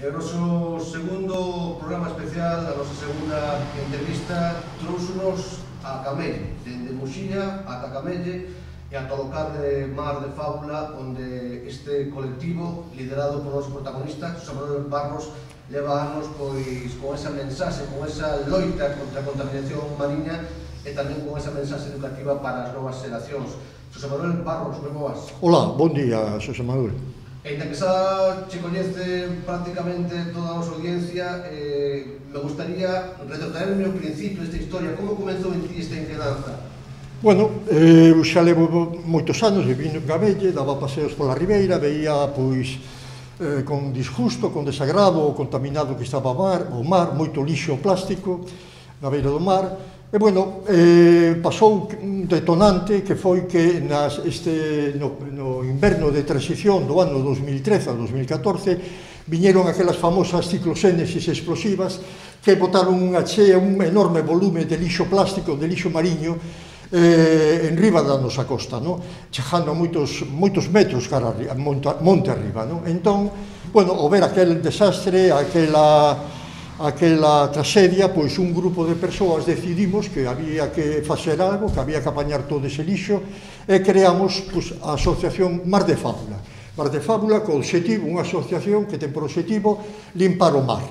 E o noso segundo programa especial, a nosa segunda entrevista, trouxonos a Camelle, dende Muxía ata Camelle e ata o local de Mar de Fábula, onde este colectivo, liderado por noso protagonista, Xosé Manuel Barros, leva anos pois con esa mensaxe, con esa loita contra a contaminación mariña e tamén con esa mensaxe educativa para as novas xeracións. Xosé Manuel Barros, moi boas. Hola, bon día, Xosé Manuel. E inda que xa che coñece prácticamente toda a nosa audiencia, me gustaría retrotraerme ao principio desta historia. Como comenzou en ti esta inquedanza? Bueno, eu xa levo moitos anos vivindo en Camelle, daba paseos pola ribeira, veía, pois, con disgusto, con desagrado, o contaminado que estaba o mar, moito lixo plástico na beira do mar. E, bueno, pasou un detonante que foi que no inverno de transición do ano 2013 a 2014 viñeron aquelas famosas cicloxénesis explosivas que botaron unha chea, un enorme volume de lixo plástico, de lixo mariño, en riba da nosa costa, chegando a moitos metros cara a monte arriba. Entón, bueno, ao ver aquel desastre, aquela traxedia, pois un grupo de persoas decidimos que había que facer algo, que había que apañar todo ese lixo e creamos a asociación Mar de Fábula. Mar de Fábula co obxectivo, unha asociación que ten por obxectivo limpar o mar.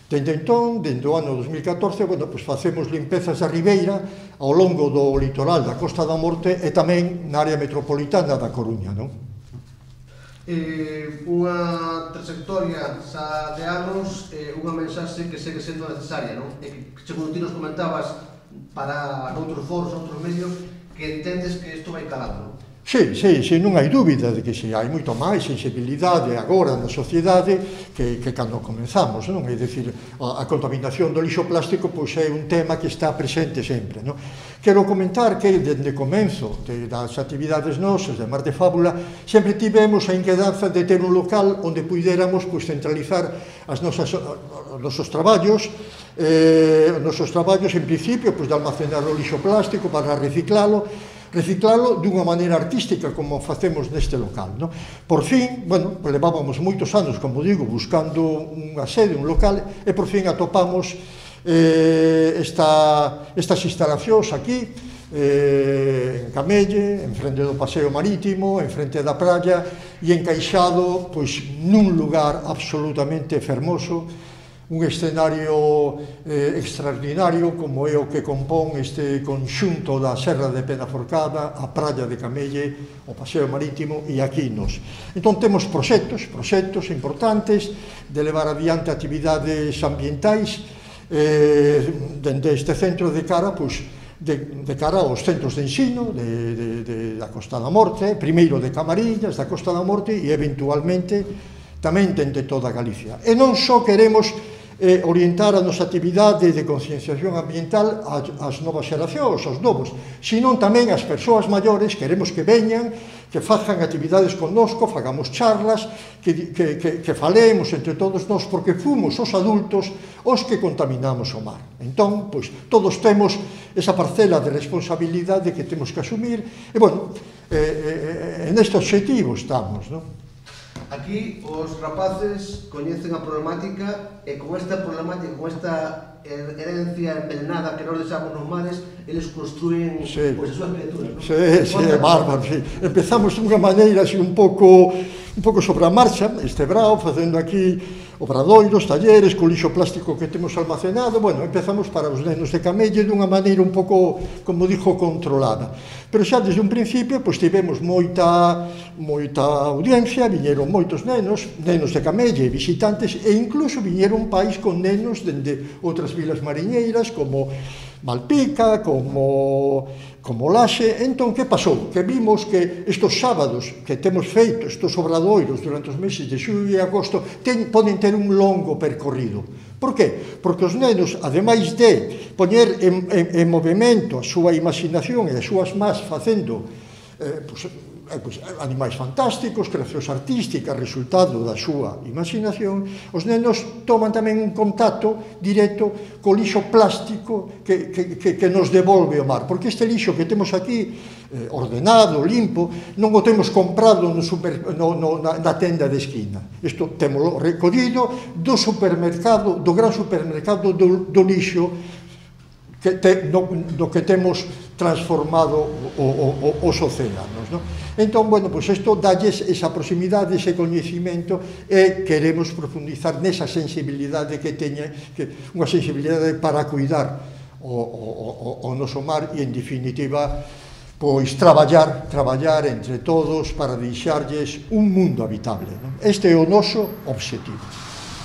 Dende entón, dende o ano 2014, bueno, pois facemos limpezas da ribeira ao longo do litoral da Costa da Morte e tamén na área metropolitana da Coruña, Unha trayectoria xa de anos, unha mensaxe que segue sendo necesaria, e que, segundo ti nos comentabas para noutros foros, noutros medios, que entendes que isto vai calando. Sí, non hai dúbida de que hai moito máis sensibilidade agora na sociedade que cando comenzamos, non? É dicir, a contaminación do lixo plástico pois é un tema que está presente sempre, non? Quero comentar que dende o comenzo das actividades nosas de Mar de Fábula sempre tivemos a inquedanza de ter un local onde puidéramos centralizar os nosos traballos en principio de almacenar o lixo plástico para reciclalo dunha maneira artística como facemos neste local. Por fin, bueno, levábamos moitos anos, como digo, buscando unha sede, un local, e por fin atopamos estas instalacións aquí, en Camelle, en frente do paseo marítimo, en frente da praia, e encaixado nun lugar absolutamente fermoso, un escenario extraordinario como é o que compón este conxunto da Serra de Penaforcada, a praia de Camelle, o paseo marítimo e aquí nos. Entón temos proxectos importantes de levar adiante actividades ambientais dende este centro de cara aos centros de ensino da Costa da Morte, primeiro de Camariñas, da Costa da Morte e eventualmente tamén dende toda Galicia. E non só queremos orientar a nosa actividade de concienciación ambiental ás novas xeracións, aos novos, senón tamén as persoas maiores, queremos que veñan, que fagan actividades connosco, fagamos charlas, que falemos entre todos nós, porque fomos os adultos os que contaminamos o mar. Entón, pois, todos temos esa parcela de responsabilidade que temos que asumir, e, bueno, neste obxectivo estamos, Aquí os rapaces coñecen a problemática e con esta problemática, con esta herencia envenenada que nos deixamos nos mares, eles construen as súas criaturas. Sí, é bárbaro, sí. Empezamos dunha maneira así un pouco sobre a marcha, este brao, facendo aquí obradoiros, talleres, co lixo plástico que temos almacenado. Bueno, empezamos para os nenos de Camelle dunha maneira un pouco, como dixo, controlada. Pero xa desde un principio, pois tivemos moita audiencia, viñeron moitos nenos de Camelle, visitantes, e incluso viñeron pais con nenos dende outras vilas mariñeiras, como Malpica, como Laxe. Entón, que pasou? Que vimos que estes sábados que temos feito, estes obradoiros durante os meses de xullo e agosto, poden ter un longo percorrido. Por qué? Porque os nenos, ademais de poñer en movimento a súa imaginación e as súas más facendo animais fantásticos, creacións artísticas, resultado da súa imaginación. Os nenos toman tamén un contacto directo co lixo plástico que nos devolve o mar, porque este lixo que temos aquí, ordenado, limpo, non o temos comprado na tenda de esquina. Isto témolo recollido do supermercado, do gran supermercado do lixo do que temos transformado os océanos. Entón, bueno, pois isto dalles esa proximidade, ese coñecimento, e queremos profundizar nesa sensibilidade que teña, unha sensibilidade para cuidar o noso mar e, en definitiva, pois traballar entre todos para deixarlles un mundo habitable. Este é o noso objetivo.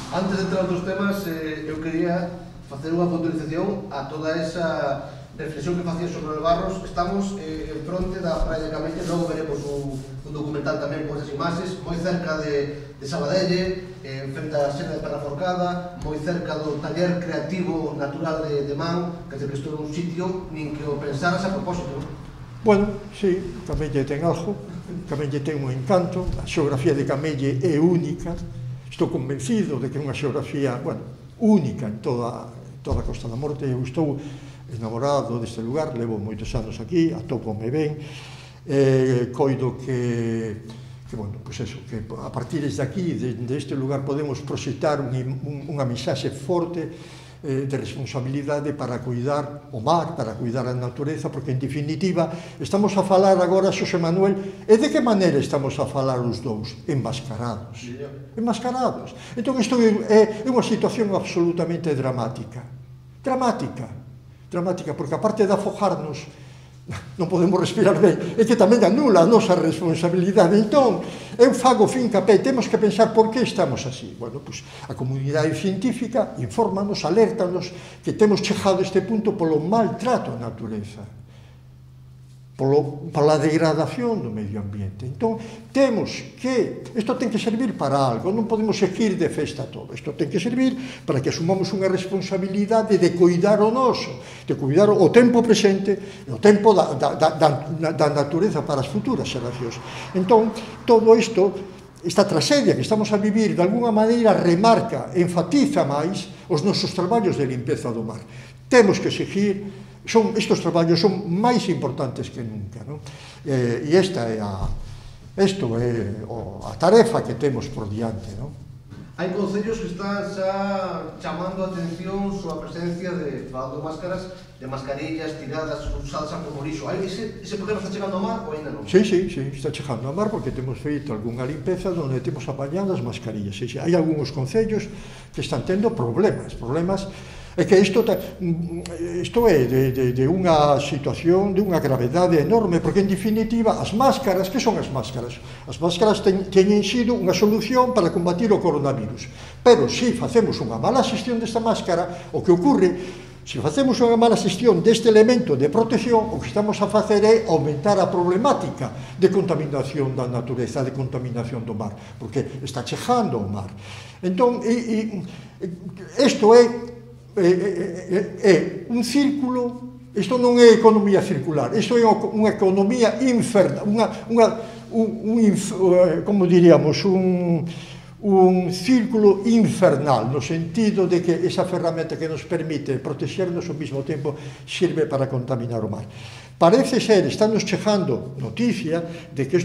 Antes de entrar nos temas, eu quería facer unha puntualización a toda esa reflexión que facía sobre o Barros. Estamos en fronte da praia de Camelle, logo veremos un documental tamén con esas imaxes, moi cerca de Sabadelle, frente á Sena de Perraforcada, moi cerca do taller creativo natural de Man, que isto é un sitio nin que o pensaras a propósito. Bueno, sí, Camelle ten algo, Camelle ten un encanto, a xeografía de Camelle é única, estou convencido de que é unha xeografía, bueno, única en toda a Costa da Morte. Eu estou enamorado deste lugar, levo moitos anos aquí, atópome ben, coido que bueno, pois eso, que a partir de aquí, deste lugar, podemos proxectar unha mensaxe forte de responsabilidade para cuidar o mar, para cuidar a natureza, porque, en definitiva, estamos a falar agora, Xosé Manuel, e de que maneira estamos a falar os dous? Enmascarados. Enmascarados. Entón, isto é unha situación absolutamente dramática. Dramática, porque aparte de afogarnos, non podemos respirar ben, é que tamén anula a nosa responsabilidade. Entón, eu fago fincapé, temos que pensar por que estamos así. Bueno, pois, a comunidade científica infórmanos, alértanos que temos chegado a este punto polo maltrato á natureza, pola degradación do medio ambiente. Entón, temos que, isto ten que servir para algo, non podemos seguir de festa todo, isto ten que servir para que asumamos unha responsabilidade de cuidar o noso, de cuidar o tempo presente, o tempo da natureza para as futuras xeracións. Entón, todo isto, esta tragedia que estamos a vivir, de alguna maneira remarca, enfatiza máis os nosos traballos de limpeza do mar. Temos que seguir. Estes traballos son máis importantes que nunca, e esta é a tarefa que temos por diante. Hai concellos que están xa chamando a atención sobre a presencia de, falando de máscaras, de mascarillas tiradas, usadas como lixo. Ese problema está chegando ao mar ou ainda non? Sí, está chegando ao mar, porque temos feito algunha limpeza onde temos apañado as mascarillas. Hai algúns concellos que están tendo problemas. É que isto é de unha situación, de unha gravedade enorme, porque, en definitiva, as máscaras, que son as máscaras? As máscaras teñen sido unha solución para combatir o coronavirus. Pero, se facemos unha mala xestión desta máscara, o que ocorre, se facemos unha mala xestión deste elemento de protección, o que estamos a facer é aumentar a problemática de contaminación da natureza, de contaminación do mar, porque está chegando ao mar. Entón, isto é un círculo. Isto non é economía circular, isto é unha economía infernal, como diríamos, un círculo infernal, no sentido de que esa ferramenta que nos permite protegernos ao mesmo tempo sirve para contaminar o mar. Parece ser, estamos chegando noticia de que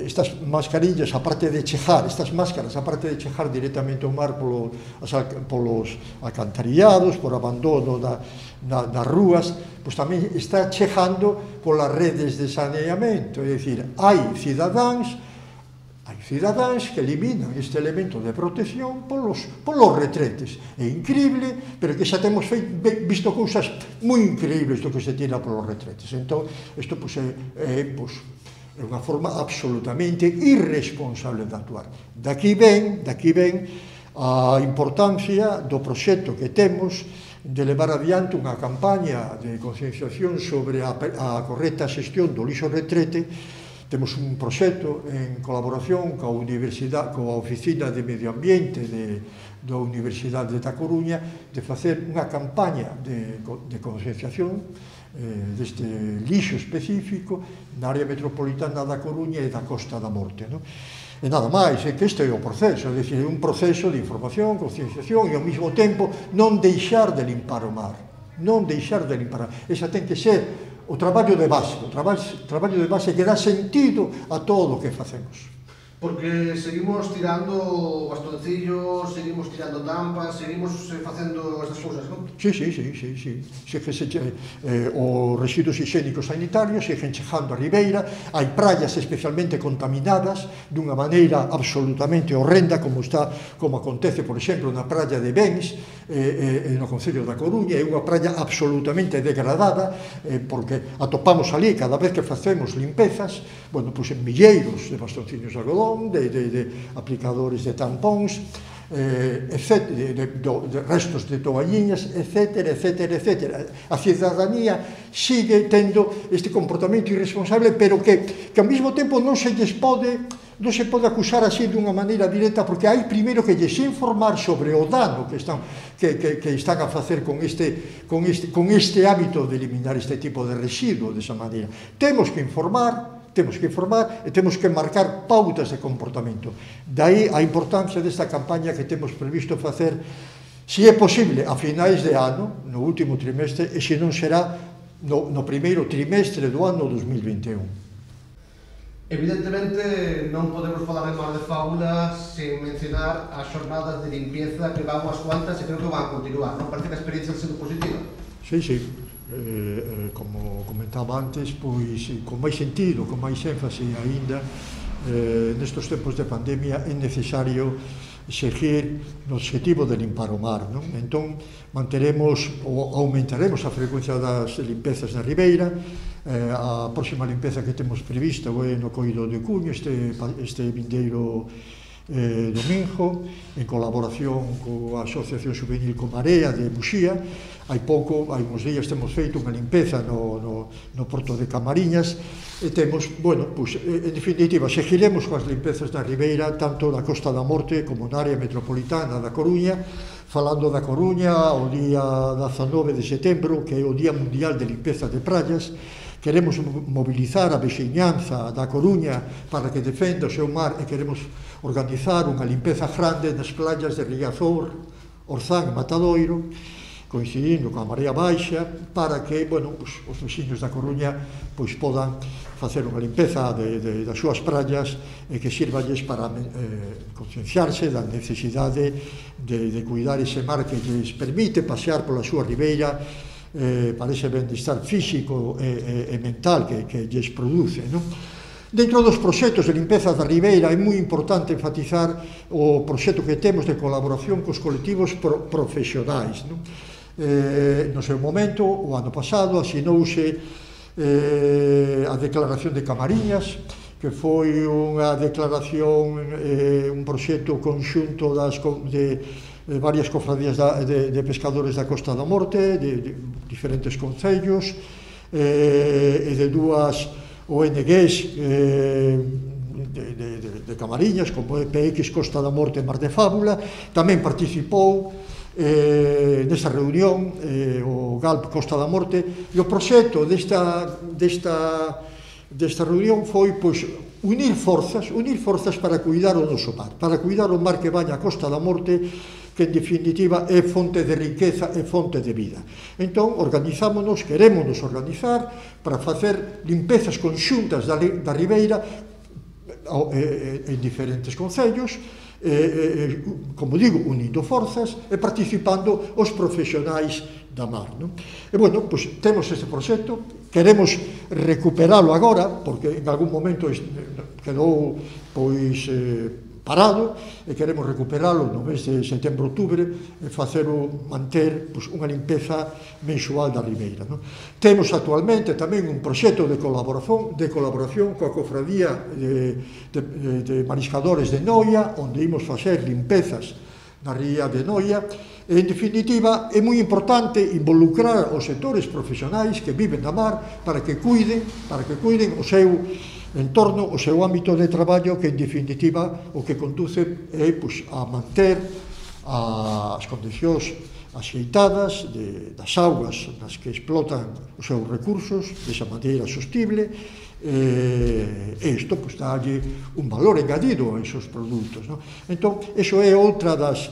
estas mascarillas, aparte de chejar, estas máscaras, aparte de chejar directamente ao mar polos alcantarillados, por abandono das rúas, pois tamén está chegando polas redes de saneamento. É dicir, hai cidadáns que eliminan este elemento de protección polos retretes. É increíble, pero que xa temos visto cousas moi increíbles do que se tira polos retretes. Entón, isto é unha forma absolutamente irresponsable de actuar. Daqui ven a importancia do proxecto que temos de levar adiante unha campaña de concienciación sobre a correcta xestión do lixo retrete. Temos un proxecto en colaboración coa Oficina de Medio Ambiente da Universidade da Coruña de facer unha campaña de concienciación deste lixo específico na área metropolitana da Coruña e da Costa da Morte, non? E nada máis, é que este é o proceso, é dicir, é un proceso de información, concienciación e ao mesmo tempo non deixar de limpar o mar, non deixar de limpar. Esa ten que ser o traballo de base, o traballo de base que dá sentido a todo o que facemos. Porque seguimos tirando bastoncillos, seguimos tirando tampas, seguimos facendo estas cousas, non? Sí. Os residuos higiénicos sanitarios seguen chegando a Ribeira, hai praias especialmente contaminadas dunha maneira absolutamente horrenda, como acontece, por exemplo, na praia de Bens, no concello da Coruña. É unha praia absolutamente degradada, porque atopamos ali, cada vez que facemos limpezas, en milleiros de bastoncillos de algodón, de aplicadores de tampóns, de restos de toalliñas, etc. A cidadanía sigue tendo este comportamento irresponsable, pero que ao mesmo tempo non se pode acusar así dunha maneira directa, porque hai primeiro que lles informar sobre o dano que están a facer con este hábito de eliminar este tipo de residuo desa maneira. Temos que informar e temos que marcar pautas de comportamento. Daí a importancia desta campaña que temos previsto facer, se é posible, a finais de ano, no último trimestre, e se non será no primeiro trimestre do ano 2021. Evidentemente non podemos falar de Mar de Fábula sen mencionar as xornadas de limpieza que van unhas cuantas e creo que van a continuar, non? Parece que a experiencia ha sido positiva. Sí. Como comentaba antes, pois con máis sentido, con máis énfase aínda, nestes tempos de pandemia é necesario seguir no objetivo de limpar o mar, non? Entón, aumentaremos a frecuencia das limpezas na Ribeira. A próxima limpeza que temos prevista é no Coido de Cuño, este vindeiro domingo, en colaboración coa Asociación Juvenil Comarea de Muxía. Hai uns días temos feito unha limpeza no Porto de Camariñas e temos, en definitiva, seguiremos coas limpezas da Ribeira, tanto na Costa da Morte como na área metropolitana da Coruña. Falando da Coruña, o día 19 de setembro, que é o Día Mundial de Limpeza de Praias, queremos mobilizar a veciñanza da Coruña para que defenda o seu mar e queremos organizar unha limpeza grande nas playas de Riazor, Orzán e Matadoiro, coincidindo coa Marea Baixa, para que os veciños da Coruña podan facer unha limpeza das súas praias e que sirvalles para concienciarse da necesidade de cuidar ese mar que lles permite pasear pola súa ribeira para ese bienestar físico e mental que lles produce, non? Dentro dos proxectos de limpeza da Ribeira é moi importante enfatizar o proxecto que temos de colaboración cos colectivos profesionais, non? No seu momento, o ano pasado, asinouse a Declaración de Camariñas, que foi unha declaración, un proxecto conxunto de varias cofradías de pescadores da Costa da Morte, de diferentes concellos, e de dúas ONGs de Camariñas, como PX Costa da Morte e Mar de Fábula. Tamén participou nesta reunión o GALP Costa da Morte, e o proxecto desta reunión foi unir forzas para cuidar o noso mar, para cuidar o mar que baña a Costa da Morte, que en definitiva é fonte de riqueza e fonte de vida. Entón, querémonos organizar para facer limpezas conxuntas da Ribeira en diferentes concellos, como digo, unindo forzas e participando os profesionais da mar, non? E, temos este proxecto, queremos recuperalo agora, porque en algún momento quedou, parado, e queremos recuperalo no mes de setembro-outubro e manter unha limpeza mensual da Ribeira, non? Temos actualmente tamén un proxecto de colaboración coa cofradía de mariscadores de Noia, onde imos facer limpezas na ría de Noia. En definitiva, é moi importante involucrar os sectores profesionais que viven da mar para que cuiden o seu entorno, o seu ámbito de traballo, que en definitiva o que conduce é a manter as condicións axeitadas das augas nas que explotan os seus recursos desa maneira sostible, e isto pues, dálle un valor engadido a esos produtos. No? Entón, iso é outra dos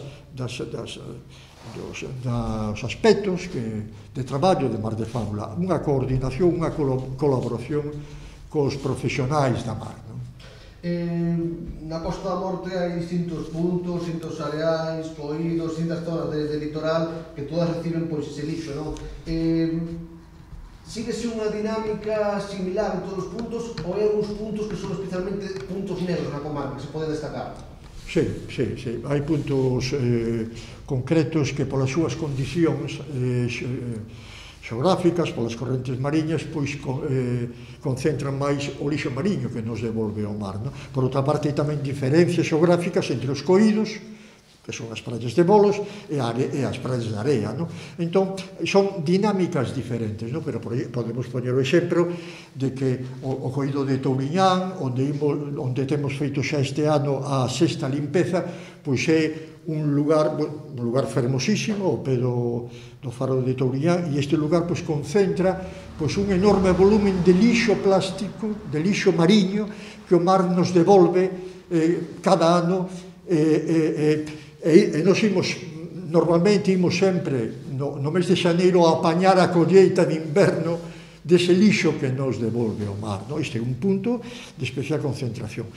aspectos de traballo de Mar de Fábula, unha coordinación, unha colaboración cos profesionais da mar. No? Na Costa da Morte hai distintos puntos, distintos areais, coídos, distintas zonas de litoral que todas reciben pois, ese lixo. No? Síguese unha dinámica similar en todos os puntos ou hai algúns puntos que son especialmente puntos negros na comarca que se poden destacar? Sí. Hai puntos concretos que polas súas condicións xeográficas, polas correntes mariñas, pois concentran máis o lixo mariño que nos devolve ao mar. No? Por outra parte, hai tamén diferencias xeográficas entre os coídos, que son as praias de bolos, e as praias de area. No? Entón, son dinámicas diferentes, no? Pero podemos poñer o exemplo de que o coído de Touriñán, onde temos feito xa este ano a sexta limpeza, pois é un lugar fermosísimo, ao pé do faro de Touriñán, e este lugar pois, concentra pois, un enorme volumen de lixo plástico, de lixo mariño, que o mar nos devolve cada ano, e nos normalmente imos sempre no mes de xaneiro a apañar a colleita de inverno dese lixo que nos devolve o mar. Este é un punto de especial concentración.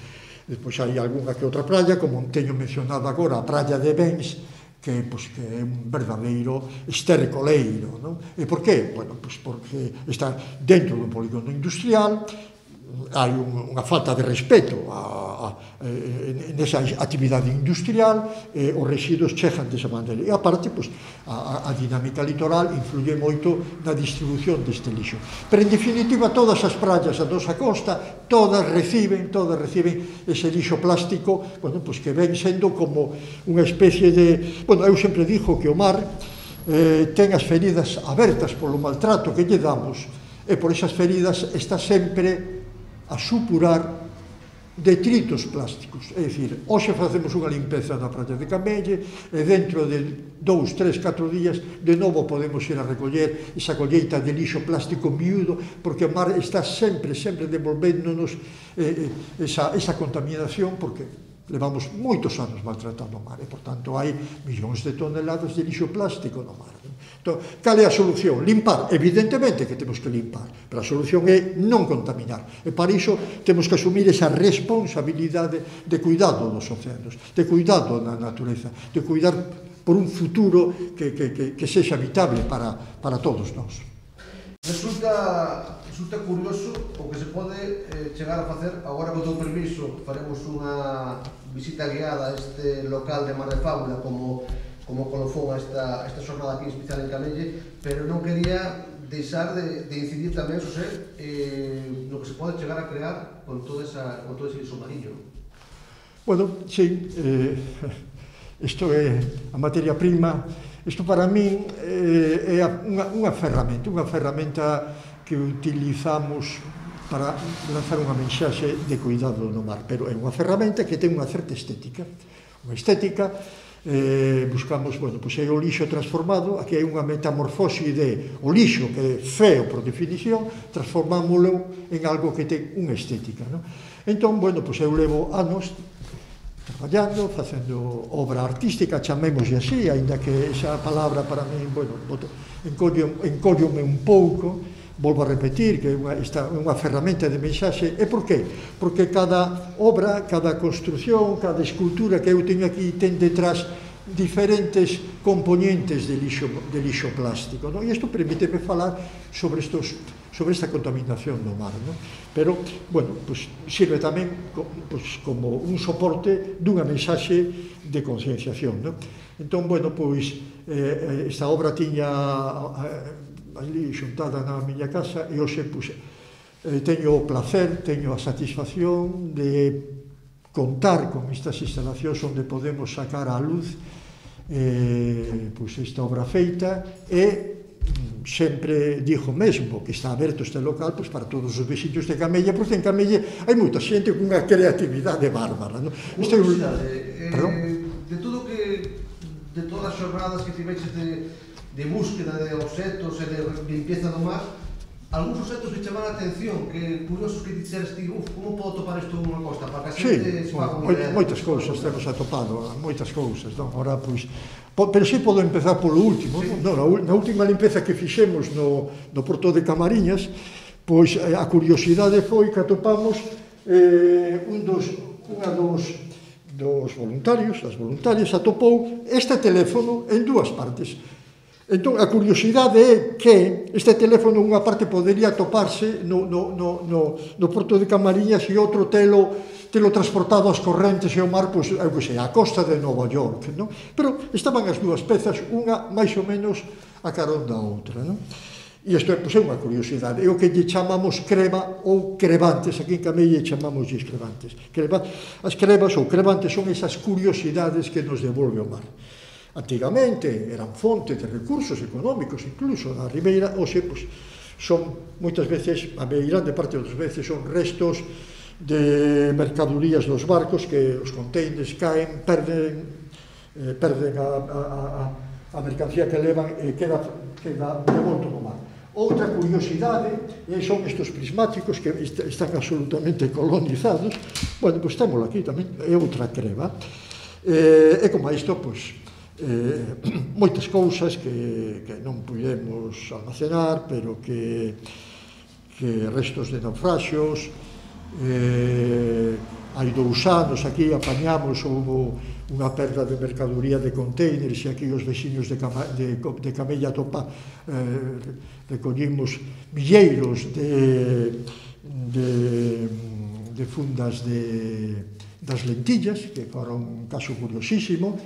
Despois hai algunha que outra praia, como teño mencionado agora, a praia de Bens, que é un verdadeiro estercoleiro. E por qué? Porque está dentro dun polígono industrial, hai unha falta de respeto nesa actividade industrial, os residuos chegan desa maneira. E aparte, a dinámica litoral influye moito na distribución deste lixo. Pero, en definitiva, todas as praias da nosa costa, todas reciben ese lixo plástico, que ven sendo como unha especie de... eu sempre digo que o mar ten as feridas abertas polo maltrato que lle damos, e por esas feridas está sempre a supurar detritos plásticos. É dicir, hoxe facemos unha limpeza na praia de Camelle e dentro de 2, 3, 4 días de novo podemos ir a recoller esa colleita de lixo plástico miúdo, porque o mar está sempre devolvéndonos esa contaminación, porque levamos moitos anos maltratando o mar e, por tanto, hai millóns de toneladas de lixo plástico no mar. Entón, cal é a solución? Limpar. Evidentemente que temos que limpar, pero a solución é non contaminar. E para iso temos que asumir esa responsabilidade de cuidado dos océanos, de cuidado da natureza, de cuidar por un futuro que sexa habitable para todos nós. Resulta curioso o que se pode chegar a facer. Agora, con teu permiso, faremos unha visita guiada a este local de Mar de Fábula como colofón a esta xornada aquí especial en Camelle, pero non quería deixar de incidir tamén, José, no que se pode chegar a crear con todo ese lixo mariño. Sí, isto é a materia prima. Isto para min é unha ferramenta que utilizamos para lanzar unha mensaxe de cuidado no mar, pero é unha ferramenta que ten unha certa estética. Unha estética, buscamos, é o lixo transformado, aquí hai unha metamorfose de o lixo que é feo por definición, transformámoslo en algo que ten unha estética. Entón, eu levo anos traballando, facendo obra artística, chamémoslle así, aínda que esa palabra para mí, encóllome un pouco, volvo a repetir que é unha ferramenta de mensaxe. E por qué? Porque cada obra, cada construción, cada escultura que eu teño aquí ten detrás diferentes componentes de lixo plástico. E isto permíteme falar sobre esta contaminación do mar. Pero, sirve tamén como un soporte dunha mensaxe de concienciación. Entón, esta obra tiña ali xuntada na miña casa e hoxe teño o placer, teño a satisfacción de contar con estas instalacións onde podemos sacar á luz esta obra feita e sempre digo mesmo que está aberto este local para todos os veciños de Camelle, porque en Camelle hai moita xente con unha creatividade bárbara. De todas as xornadas que tiveches de búsqueda de obxetos e de limpieza do mar, algúns obxetos que chamaron a atención, que curiosos que dixeres ti, como podo topar isto nunha costa, para que a xente se faga unha idea? Moitas cousas temos atopado, moitas cousas, non? Ora, pois, pero si podo empezar polo último, non? Na última limpeza que fixemos no Porto de Camariñas, pois a curiosidade foi que atopamos unha dos voluntarios, das voluntarias, atopou este teléfono en dúas partes. Entón, a curiosidade é que este teléfono unha parte podería atoparse no Porto de Camariñas e outro telo transportado ás correntes e ao mar, pois, eu que sei, a costa de Nova York, non? Pero estaban as dúas pezas, unha máis ou menos a carón da outra, non? E isto é unha curiosidade, é o que lle chamamos creba ou crevantes, aquí en Camelle chamamos crevantes. As crebas ou crevantes son esas curiosidades que nos devolve o mar. Antigamente eran fonte de recursos económicos, incluso na ribeira, hoxe, pois, son moitas veces, a grande parte das veces, son restos de mercadorías dos barcos que os containers caen, perden a mercancía que levan e queda devolto no mar. Outra curiosidade son estes prismáticos que están absolutamente colonizados. Bueno, pois temos aquí tamén, é outra creba. E como isto, pois, moitas cousas que non podemos almacenar, pero que restos de naufraxios. Hai 2 anos aquí apañamos, houve unha perda de mercadoría de containers e aquí os veciños de Camella recollimos milleiros de fundas das lentillas, que foron un caso curiosísimo.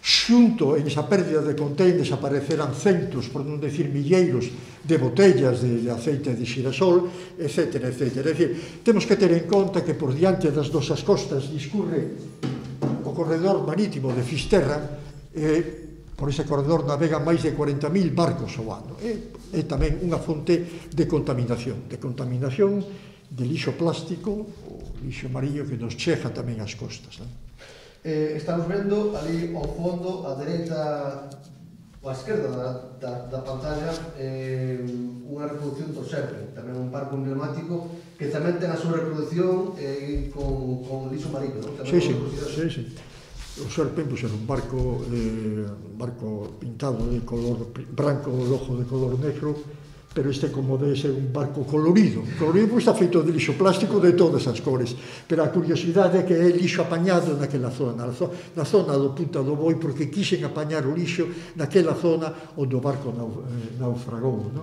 Xunto en esa pérdida de containers apareceran centos, por non decir milleiros, de botellas de aceite de xirasol, etc. É dicir, temos que ter en conta que por diante das nosas costas discurre o corredor marítimo de Fisterra, e por ese corredor navegan máis de 40.000 barcos ao ano. É tamén unha fonte de contaminación de lixo plástico, o lixo mariño que nos chega tamén ás costas. Estamos vendo ali ao fondo, á dereita ou á esquerda da pantalla, unha reproducción do Serpent, tamén un barco emblemático que tamén ten a súa reproducción con lixo marino, non? Sí. O Serpent era un barco pintado de color branco, o ojo de color negro, pero este, como debe ser un barco colorido, está feito de lixo plástico de todas as cores, pero a curiosidade é que é lixo apañado naquela zona, na zona do Punta do Boi, porque quixen apañar o lixo naquela zona onde o barco naufragou.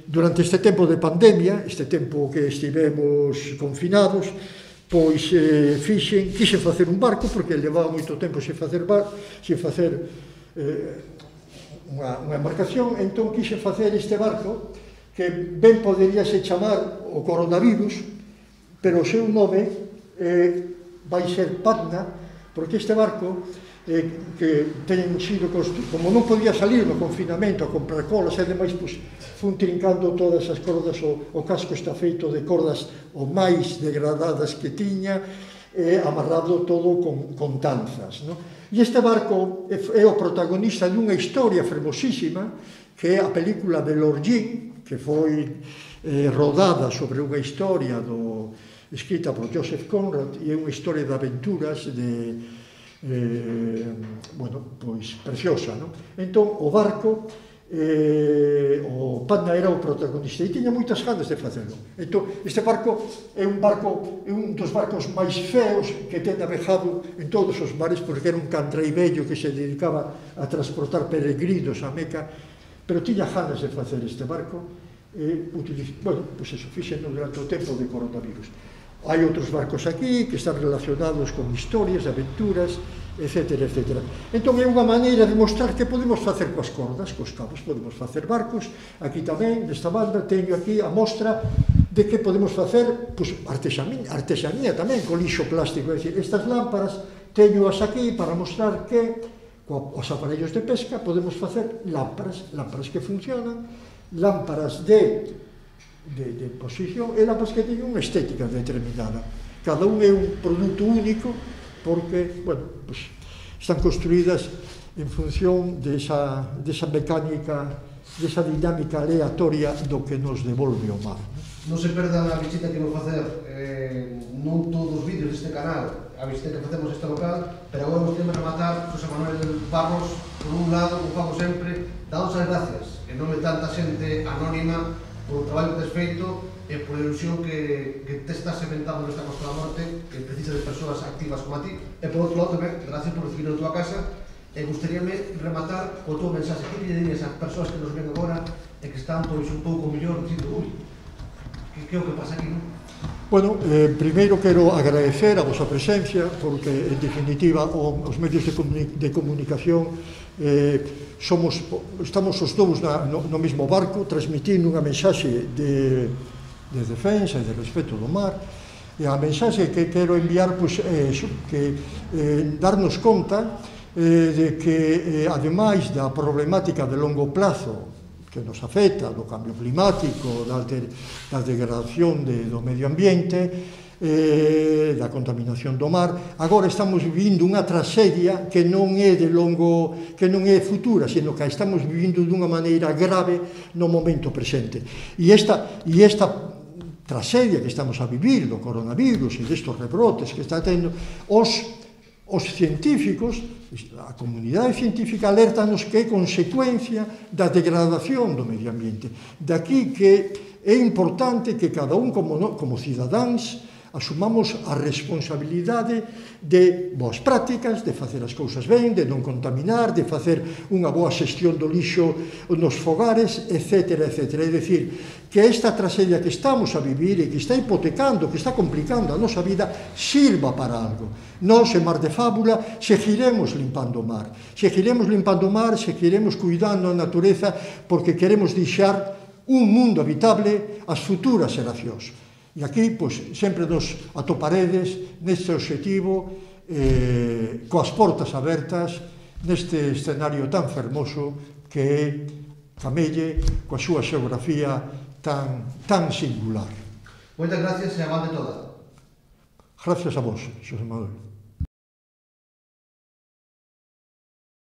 Durante este tempo de pandemia, este tempo que estivemos confinados, pois quixen facer un barco, porque levaba moito tempo sen facer unha embarcación, entón quixen facer este barco que ben poderíase chamar o coronavirus, pero o seu nome vai ser Patna, porque este barco que teñen sido construído, como non podía salir no confinamento a comprar colas e demais, pois fun trincando todas as cordas, o casco está feito de cordas o máis degradadas que tiña, amarrado todo con tanzas, non? E este barco é o protagonista dunha historia fermosísima, que é a película de Lorgin, que foi rodada sobre unha historia escrita por Joseph Conrad, e é unha historia de aventuras pois preciosa, non? Entón, o barco, o Patna era o protagonista e tiña moitas ganas de facelo. Entón, este barco é un dos barcos máis feos que ten navegado en todos os mares, porque era un cantrei vello que se dedicaba a transportar peregrinos a Meca, pero tiña ganas de facer este barco e fixeno durante o tempo de coronavirus. Hai outros barcos aquí que están relacionados con historias, aventuras, etc. Entón é unha maneira de mostrar que podemos facer coas cordas, cos cabos, podemos facer barcos. Aquí tamén, nesta banda, teño aquí a mostra de que podemos facer artesanía tamén, con lixo plástico. É dicir, estas lámparas teñoas aquí para mostrar que coas aparellos de pesca podemos facer lámparas que funcionan, lámparas de posición, e lámparas que teñen unha estética determinada. Cada un é un produto único, porque, están construídas en función desa mecánica, desa dinámica aleatoria do que nos devolve o mar. Non se perdan a visita que vou facer non todos os vídeos deste canal, a visita que facemos este local, pero agora vos temos a rematar José Manuel Barros, por un lado, como fago sempre, dándos as gracias, en nome de tanta xente anónima, por o traballo que tes feito e por a ilusión que te estás inventando nesta Costa da Morte, que precisa de persoas activas como a ti, e por outro lado tamén, gracias por recibir na tua casa, e gustaríame rematar co teu mensaxe. Que lle dirías a persoas que nos ven agora e que están pois un pouco mellor, dicindo, ui, que é o que pasa aquí, non? Bueno, primeiro quero agradecer a vosa presencia, porque, en definitiva, os medios de comunicación estamos os dous no mesmo barco, transmitindo unha mensaxe de defensa e de respeto do mar, e a mensaxe que quero enviar é que darnos conta de que, ademais da problemática de longo plazo que nos afecta, do cambio climático, da degradación do medio ambiente, da contaminación do mar, agora estamos vivindo unha tragedia que non é futura, sino que estamos vivindo dunha maneira grave no momento presente. E esta tragedia que estamos a vivir do coronavirus e destes rebrotes que está tendo, os científicos, a comunidade científica alertanos que é consecuencia da degradación do medio ambiente. Daqui que é importante que cada un como cidadáns asumamos a responsabilidade de boas prácticas, de facer as cousas ben, de non contaminar, de facer unha boa xestión do lixo nos fogares, etc. É dicir, que esta tragedia que estamos a vivir e que está hipotecando, que está complicando a nosa vida, sirva para algo. Nós, en Mar de Fábula, seguiremos limpando o mar, seguiremos cuidando a natureza, porque queremos deixar un mundo habitable ás futuras xeracións. E aquí, pois, sempre nos atoparedes neste obxectivo, coas portas abertas, neste escenario tan fermoso que é Camelle, coa súa xeografía tan singular. Moitas gracias e avante toda. Gracias a vos, Xosé Manuel.